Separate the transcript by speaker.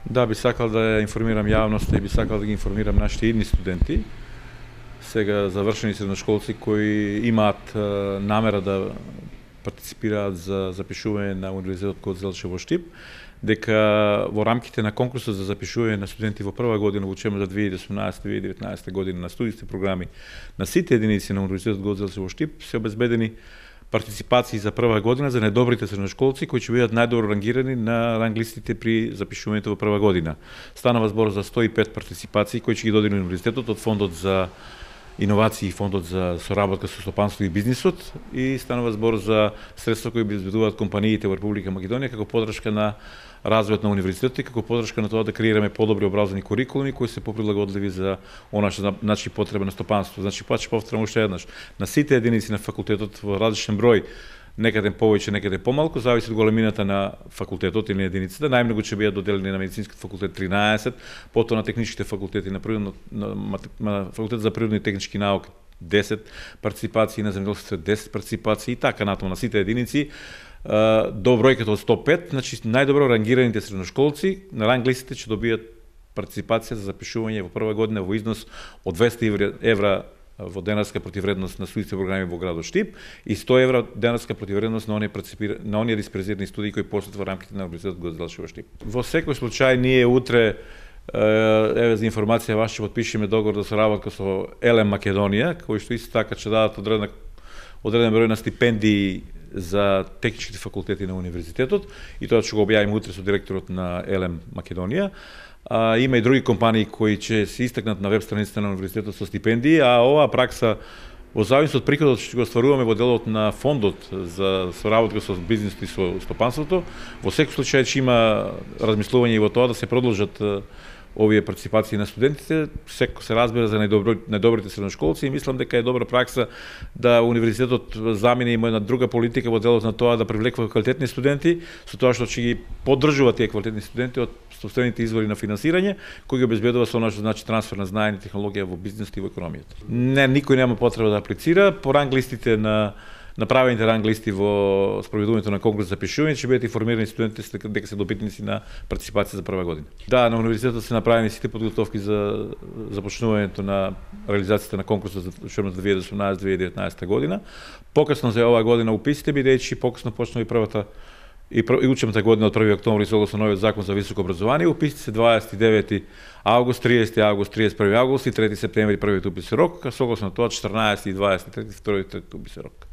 Speaker 1: Да, би сакал да ја информирам јавноста и би сакал да ги информирам нашите идни студенти, сега завршени средношколци кои имаат намера да партиципираат за запишување на Универзитетот Гоце во Штип, дека во рамките на конкурсот за запишување на студенти во прва година во учебната 2018-2019 година на студиите програми на сите единици на Универзитетот Гоце во Штип се обезбедени партиципации за прва година за најдобрите средношколци кои ќе бидат најдобро рангирани на ранглистите при запишувањето во прва година. Станава збор за 105 партиципации кои ќе ги додели универзитетот од фондот за иновации и фондот за соработка со стопанство и бизнисот и станува збор за средства кои обезбедуваат компаниите во Република Македонија како поддршка на развојот на универзитетот и како поддршка на тоа да креираме подобри образовни курикулуми кои се поприлагодливи за она што значи потреба на стопанство. Значи повторам уште еднаш, на сите единици на факултетот во различен број, некаде повеќе, некаде помалку, зависи од големината на факултетот или на единицата. Најмногу ќе бидат доделени на медицинскиот факултет 13, потоа на техничките факултети, на факултет за природни и технички науки 10 партиципации, на земјоделството 10 партиципации и така натаму на сите единици до бројката од 105, значи најдобро рангираните средношколци на ранглистите ќе добијат партиципација за запишување во прва година во износ од 200 евра во денарска противредност на студиите програми во градот Штип и 100 евра денарска противредност на оние диспрезирани студии кои постојат во рамките на Универзитетот Гоце во Штип. Во секој случај ние утре еве за информација вас ќе потпишеме договор за соработка со ЕЛЕМ Македонија, кои што исто така ќе дадат одреден број на стипендии за техничките факултети на универзитетот и тоа ќе го објавиме утре со директорот на ЕЛЕМ Македонија. Има и други компании кои ќе се истакнат на веб страницата на универзитетот со стипендии, а оваа пракса во зависност од приходот што го остваруваме во делот на фондот за соработка со бизнисот и со стопанството, во секој случај ќе има размислување и во тоа да се продолжат овие партиципации на студентите, секој се разбира за најдобрите средношколци и мислам дека е добра пракса да универзитетот замени има една друга политика во делот на тоа да привлекува квалитетни студенти, со тоа што ќе ги поддржува тие квалитетни студенти од собствените извори на финансирање, кои ги обезбедува со она што значи трансфер на знаење и технологија во бизнисот и во економијата. Не, никој нема потреба да аплицира, по ранглистите на направените ранглисти во спроведувањето на конкурс за запишување ќе бидат информирани студентите дека се добитници на партиципација за прва година. Да, на универзитетот се направени сите подготовки за започнувањето на реализацијата на конкурсот за учебната 2018-2019 година. Покасно за оваа година уписите, бидејќи покасно почнува и првата и учебната година од 1 октомври согласно новиот закон за високо образование. Уписите се 29 август, 30 август, 31 август и 3 септември првиот уписен рок, а согласно тоа 14 и 23 вториот уписен рок.